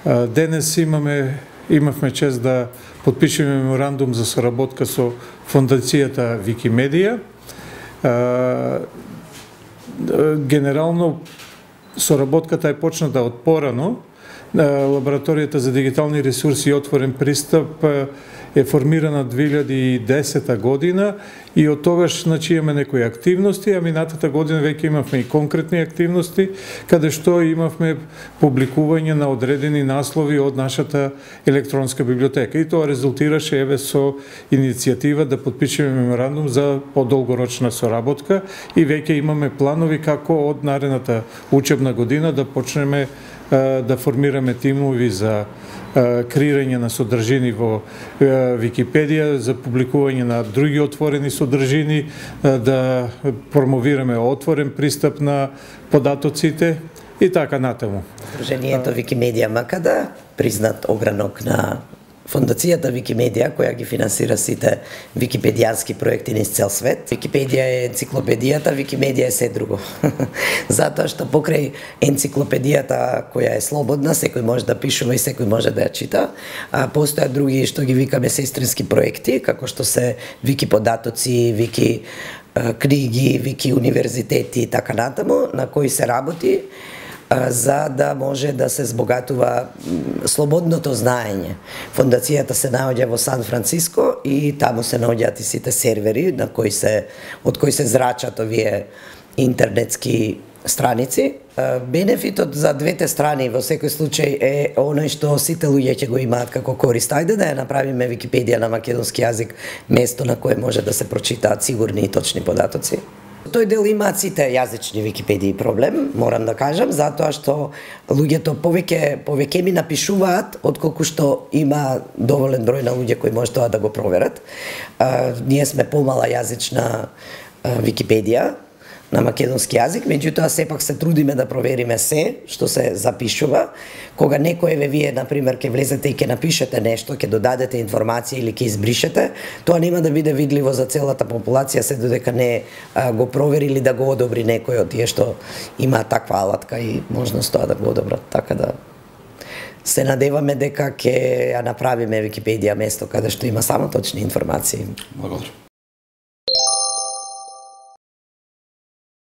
Денес имавме чест да потпишеме меморандум за соработка со фондацијата Викимедија. Генерално соработката е почната од порано. Лабораторијата за дигитални ресурси и отворен пристап е формирана 2010 година и од тогаш имаме некои активности, а минатата година веќе имавме и конкретни активности, каде што имавме публикување на одредени наслови од нашата електронска библиотека. И тоа резултираше со иницијатива да потпишеме меморандум за подолгорочна соработка и веќе имаме планови како од наредната учебна година да почнеме да формираме тимови за креирање на содржини во Википедија, за публикување на други отворени содржини, да промовираме отворен пристап на податоците и така натаму. Сдруженијето Викимедија Макада, признат огранок на Фондацијата Викимедија, која ги финансира сите википедијански проекти низ цел свет. Википедија е енциклопедијата, Викимедија е се друго. Затоа што покрај енциклопедијата која е слободна, секој може да пишува и секој може да ја чита, постојат други што ги викаме сестрински проекти, како што се вики податоци, вики книги, вики универзитети и така натаму, на кои се работи за да може да се збогатува слободното знаење. Фондацијата се наоѓа во Сан Франциско и таму се наоѓаат и сите сервери од кои се зрачат овие интернетски страници. Бенефитот за двете страни во секој случај е оној што сите луѓе ќе го имаат како корист. Ајде да ја направиме Википедија на македонски јазик, место на кое може да се прочитаат сигурни и точни податоци. Тој дел имаат сите јазични Википедии проблем, морам да кажам, затоа што луѓето повеќе ми напишуваат отколку што има доволен број на луѓе кои може тоа да го проверат. Ние сме помала јазична Википедија на македонски јазик, меѓутоа сепак се трудиме да провериме се што се запишува. Кога некој вие, например, ќе влезете и ќе напишете нешто, ќе додадете информација или ќе избришете, тоа нема да биде видливо за целата популација се додека не го провери или да го одобри некој од тие што има таква алатка и можност тоа да го одобрат. Така да се надеваме дека ќе ја направиме Википедија место каде што има само точни информации. Благодарам.